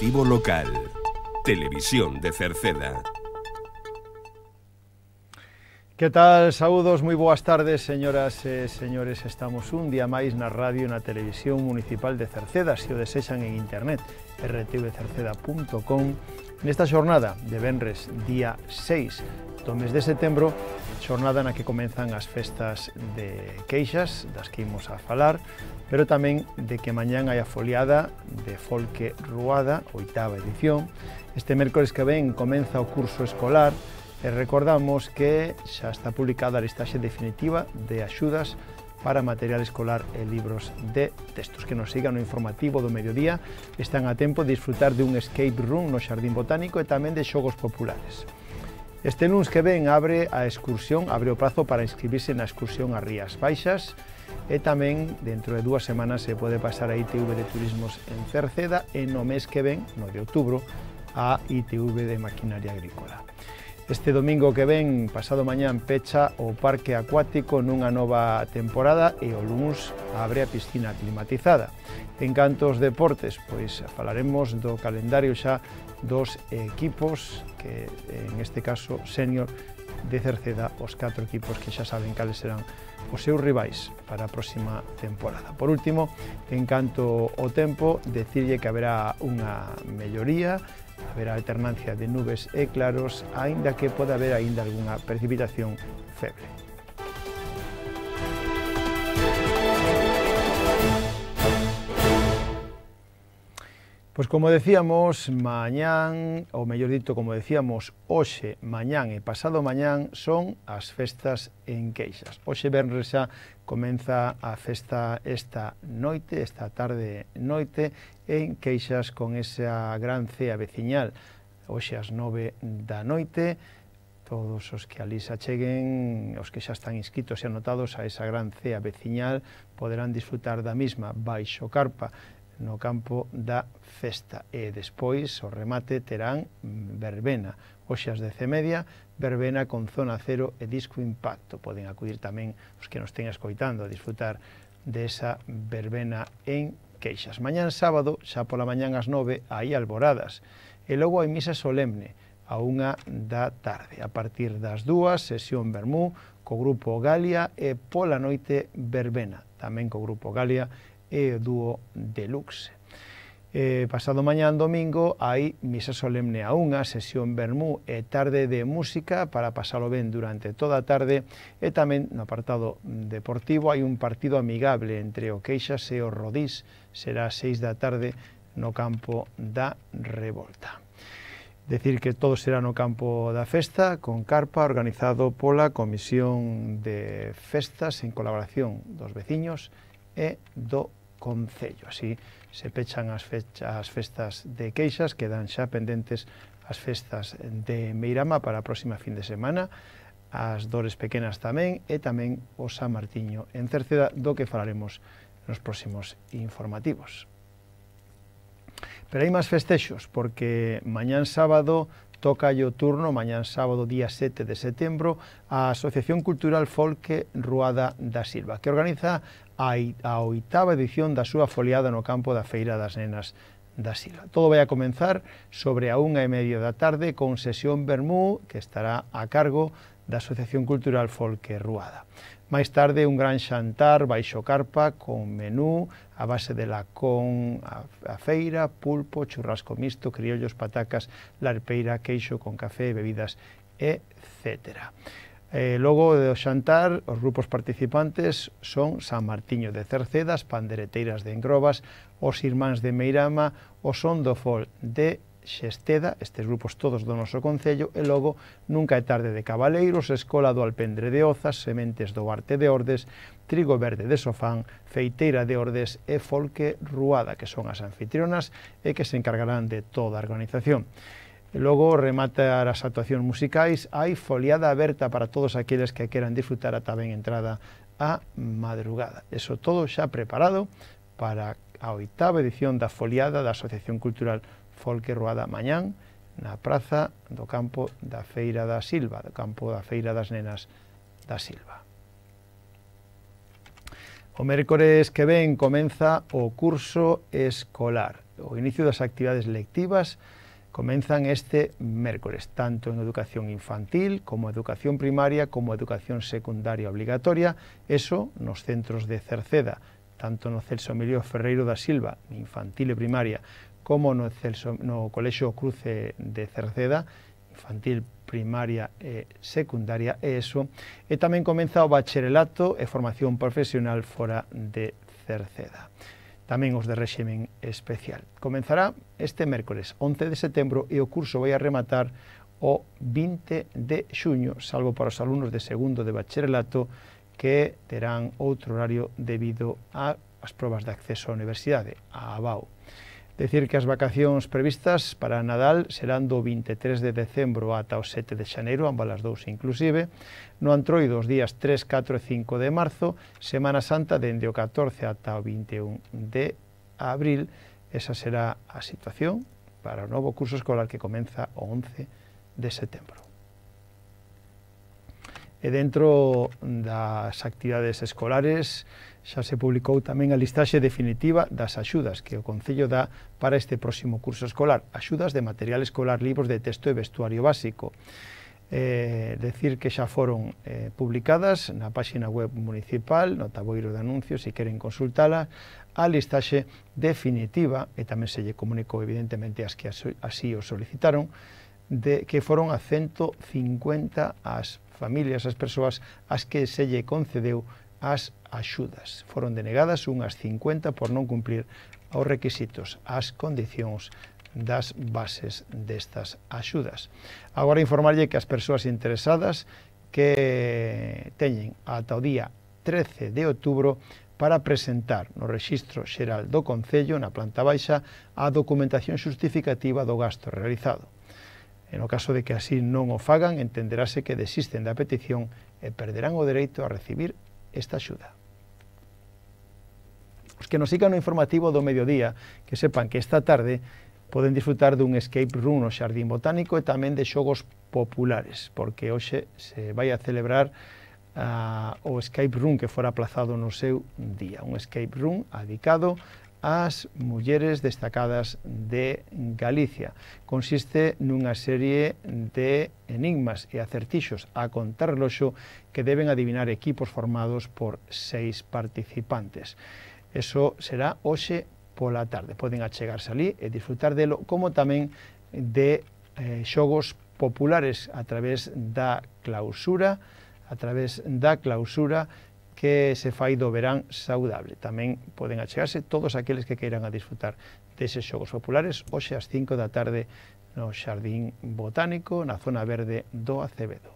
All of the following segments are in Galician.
Informativo local. Televisión de Cerceda. Que tal? Saúdos, moi boas tardes, señoras e señores. Estamos un día máis na radio e na televisión municipal de Cerceda, se o desexan en internet, rtvcerceda.com, nesta xornada de venres, día 6 do mes de setembro, xornada na que comenzan as festas de queixas, das que imos a falar, pero tamén de que mañán hai a foliada de Folque Ruada, 8ª edición. Este mércores que ven comeza o curso escolar e recordamos que xa está publicada a listaxe definitiva de axudas para material escolar e libros de textos. Que nos sigan no informativo do mediodía, están a tempo de disfrutar de un escape room no Xardín Botánico e tamén de xogos populares. Este luns que ven abre a excursión, abre o prazo para inscribirse na excursión a Rías Baixas e tamén dentro de 2 semanas se pode pasar a ITV de Turismos en Cerceda e no mes que ven, no de outubro, a ITV de Maquinaria Agrícola. Este domingo que ven, pasado mañán, pecha o parque acuático nunha nova temporada e o luns abre a piscina climatizada. En canto aos deportes, pois falaremos do calendario xa dos equipos, que en este caso senior de Cerceda, os 4 equipos que xa saben cales serán os seus rivais para a próxima temporada. Por último, en canto ao tempo, decirlle que haberá unha melloría, haberá alternancia de nubes e claros, aínda que pode haber aínda algunha precipitación feble. Pois como decíamos, mañán, ou mellor dito, como decíamos, hoxe, mañán e pasado mañán son as festas en Queixas. Hoxe venres xa comeza a festa esta noite, esta tarde noite, en Queixas con esa gran cea veciñal. Hoxe ás 9 da noite, todos os que ali se acheguen, os que xa están inscritos e anotados a esa gran cea veciñal, poderán disfrutar da mesma baixo carpa no campo da festa. E despois, o remate, terán verbena. Hoxe ás 10:30, verbena con zona cero e disco impacto. Poden acudir tamén os que nos ten escoitando a disfrutar desa verbena en Queixas. Mañán sábado, xa pola mañán ás 9, hai alboradas. E logo hai misa solemne a 1 da tarde. A partir das 2, sesión vermú co grupo Galia e pola noite verbena, tamén co grupo Galia e o dúo Deluxe. Pasado mañán domingo hai misa solemne a 1, sesión vermú e tarde de música para pasalo ben durante toda a tarde, e tamén no apartado deportivo hai un partido amigable entre o Queixas e o Rodís, será ás 6 da tarde no campo da Revolta. Decir que todo será no campo da festa, con carpa, organizado pola Comisión de Festas en colaboración dos veciños e do Concello. Así se pechan as festas de Queixas, quedan xa pendentes as festas de Meirama para a próxima fin de semana, as Dores Pequenas tamén, e tamén o San Martiño en Cerceda, do que falaremos nos próximos informativos. Pero hai máis festexos, porque mañán sábado toca o turno, mañán sábado día 7 de setembro, a Asociación Cultural Folque Ruada da Silva, que organiza a 8ª edición da súa foliada no campo da Feira das Nenas da Silva. Todo vai a comenzar sobre a 1:30 da tarde con sesión vermú que estará a cargo da Asociación Cultural Folque Ruada. Máis tarde un gran xantar baixo carpa con menú a base de lacón a feira, pulpo, churrasco mixto, criollos, patacas, larpeira, queixo con café, bebidas, etc. Logo do xantar, os grupos participantes son San Martiño de Cerceda, as pandereteiras de Engrobas, os Irmáns de Meirama, o Son do Fol de Xesteda, estes grupos todos do noso concello, e logo Nunca é tarde de Cabaleiros, Escola do Alpendre de Ozas, Sementes do Arte de Ordes, Trigo Verde de Sofán, Feiteira de Ordes e Folque Ruada, que son as anfitrionas e que se encargarán de toda a organización. E logo, rematar as actuacións musicais, hai foliada aberta para todos aqueles que queran disfrutar ata ben entrada a madrugada. Eso todo xa preparado para a 8ª edición da foliada da Asociación Cultural Folque Ruada mañán na praza do campo da Feira da Silva, do campo da Feira das Nenas da Silva. O mércores que ven comeza o curso escolar o inicio das actividades lectivas comenzan este mércores, tanto en educación infantil como educación primaria como educación secundaria obligatoria, eso nos centros de Cerceda, tanto no Celso Emilio Ferreiro da Silva, infantil e primaria, como no Colexio Cruce de Cerceda, infantil, primaria e secundaria, e eso, e tamén comeza o bacharelato e formación profesional fora de Cerceda. Tamén os de réximen especial. Comenzará este mércores 11 de setembro e o curso vai a rematar o 20 de xuño, salvo para os alumnos de segundo de bacharelato que terán outro horario debido ás probas de acceso á universidade, a ABAU. Decir que as vacacións previstas para Nadal serán do 23 de decembro ata o 7 de xaneiro, ambas as dous inclusive, no Antroido os días 3, 4 e 5 de marzo, Semana Santa dende o 14 ata o 21 de abril, esa será a situación para o novo curso escolar que comeza o 11 de setembro. E dentro das actividades escolares xa se publicou tamén a listaxe definitiva das axudas que o Concello dá para este próximo curso escolar, axudas de material escolar, libros de texto e vestuario básico. Decir que xa foron publicadas na páxina web municipal, no taboiro de anuncios, se queren consultala, a listaxe definitiva, e tamén se lle comunicou evidentemente as que así o solicitaron, de que foron a 150 as familias, as persoas as que se lle concedeu as axudas. Foron denegadas unhas 50 por non cumplir os requisitos, as condicións das bases destas axudas. Agora informarlle que as persoas interesadas que teñen ata o día 13 de outubro para presentar no Rexistro Xeral do Concello, na planta baixa, a documentación xustificativa do gasto realizado. En o caso de que así non o fagan, entenderase que desisten da petición e perderán o dereito a recibir esta axuda. Os que nos sigan no informativo do mediodía, que sepan que esta tarde poden disfrutar dun escape room no Xardín Botánico e tamén de xogos populares, porque hoxe se vai a celebrar o escape room que fora aplazado no seu día, un escape room dedicado ás mulleres destacadas de Galicia. Consiste nunha serie de enigmas e acertixos a contrarreloxo que deben adivinar equipos formados por 6 participantes. Eso será hoxe pola tarde. Poden achegarse ali e disfrutar delo, como tamén de xogos populares a través da clausura, que se fai do verán saudable. Tamén poden achegarse todos aqueles que queiran a disfrutar deses xogos populares hoxe ás 5 da tarde no Xardín Botánico, na zona verde do Acevedo.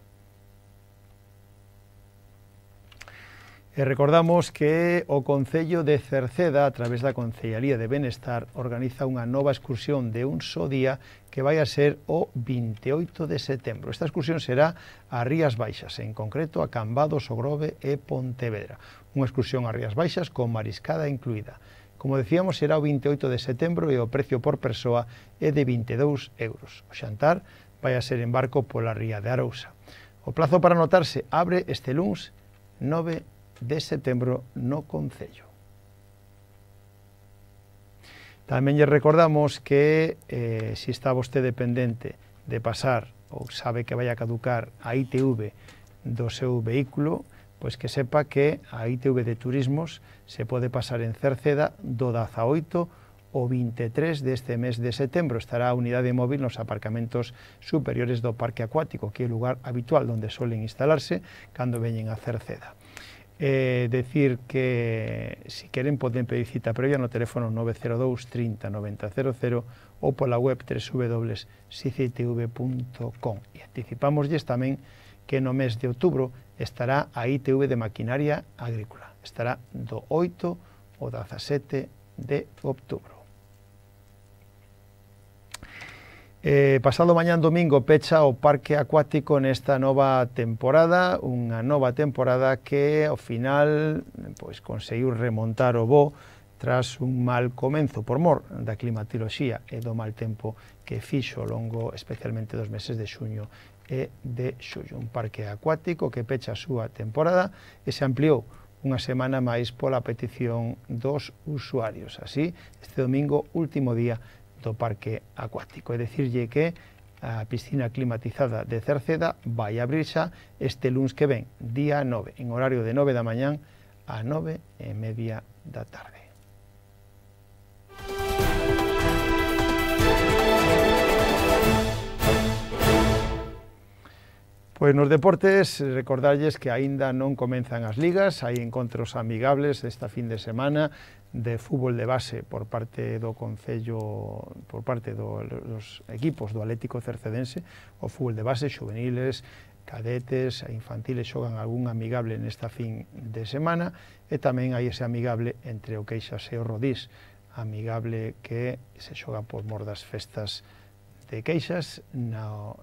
E recordamos que o Concello de Cerceda, a través da Concellaría de Benestar, organiza unha nova excursión de un só día que vai a ser o 28 de setembro. Esta excursión será a Rías Baixas, en concreto a Cambados, o Grove e Pontevedra. Unha excursión a Rías Baixas con mariscada incluída. Como decíamos, será o 28 de setembro e o precio por persoa é de 22 euros. O xantar vai a ser en barco pola ría de Arousa. O plazo para anotarse abre este luns 9 de setembro no Concello. Tamén lle recordamos que se está vostede pendente de pasar ou sabe que vai a caducar a ITV do seu vehículo, pois que sepa que a ITV de Turismos se pode pasar en Cerceda do 18 ao 23 deste mes de setembro. Estará a unidade móvil nos aparcamentos superiores do Parque Acuático, que é o lugar habitual onde suelen instalarse cando veñen a Cerceda. Decir que si queren poden pedir cita previa no teléfono 902 30 90 00 ou pola web www.sicitv.com. E anticipámoslles tamén que no mes de outubro estará a ITV de Maquinaria Agrícola. Estará do 8 ao 17 de outubro. Pasado mañán domingo pecha o Parque Acuático nesta nova temporada, unha nova temporada que ao final pois conseguiu remontar o voo tras un mal comenzo por mor da climatoloxía e do mal tempo que fixo ao longo especialmente dos meses de xuño e de xullo. Un parque acuático que pecha a súa temporada e se ampliou unha semana máis pola petición dos usuarios. Así, este domingo, último día do parque acuático. É dicirlle que a piscina climatizada de Cerceda vai abrir xa este luns que ven, día 9, en horario de 9 da mañán a 9:30 da tarde. Pois nos deportes, recordarlles que aínda non comenzan as ligas, hai encontros amigables esta fin de semana de fútbol de base por parte do Concello, por parte dos equipos do Atlético Cercedense, o fútbol de base, juveniles, cadetes e infantiles xogan algún amigable nesta fin de semana e tamén hai ese amigable entre o Queixas e o Rodís, amigable que se xoga por mor das festas de Queixas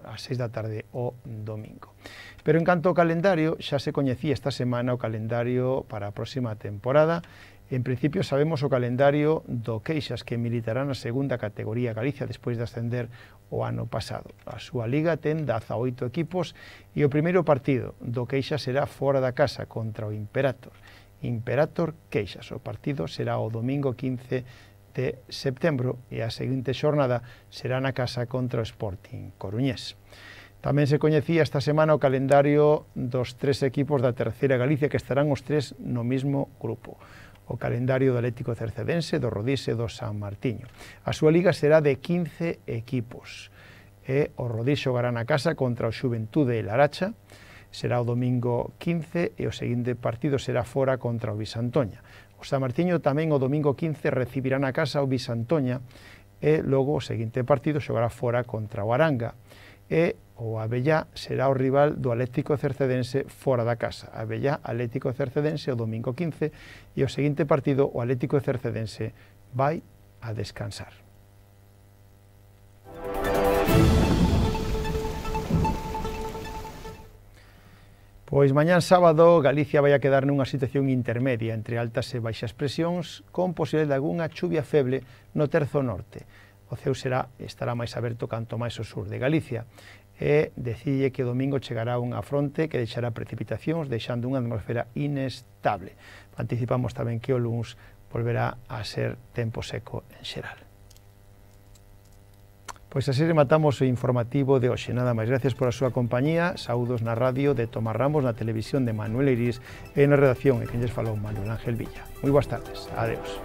ás 6 da tarde o domingo. Pero en canto ao calendario, xa se coñecía esta semana o calendario para a próxima temporada. En principio sabemos o calendario do Queixas, que militará na segunda categoría Galicia despois de ascender o ano pasado. A súa liga ten 18 equipos e o primeiro partido do Queixas será fora da casa contra o Imperator. Imperator Queixas. O partido será o domingo 15 de setembro e a seguinte xornada será na casa contra o Sporting Coruñés. Tamén se coñecía esta semana o calendario dos 3 equipos da terceira Galicia que estarán os 3 no mismo grupo. O calendario do Atlético Cercedense, do Rodís e do San Martiño. A súa liga será de 15 equipos. E o Rodís xogará na casa contra o Xuventude e Laracha, será o domingo 15 e o seguinte partido será fora contra o Bisantoña. O San Martiño tamén o domingo 15 recibirá na casa o Bisantoña e logo o seguinte partido xogará fora contra o Aranga e o Abellá será o rival do Atlético Cercedense fora da casa. Abellá, Atlético Cercedense o domingo 15 e o seguinte partido o Atlético Cercedense vai a descansar. Pois mañán sábado Galicia vai a quedar nunha situación intermedia entre altas e baixas presións con posibilidade de algunha chuvia feble no terzo norte. O ceo estará máis aberto canto máis ao sur de Galicia e decide que o domingo chegará unha fronte que deixará precipitacións deixando unha atmosfera inestable. Anticipamos tamén que o luns volverá a ser tempo seco en xeral. Pois así rematamos o informativo de hoxe. Nada máis, gracias por a súa compañía. Saúdos na radio de Tomás Ramos, na televisión de Manuel Iris e na redacción, e quen lles falou Manuel Ángel Villa. Moi boas tardes. Adeus.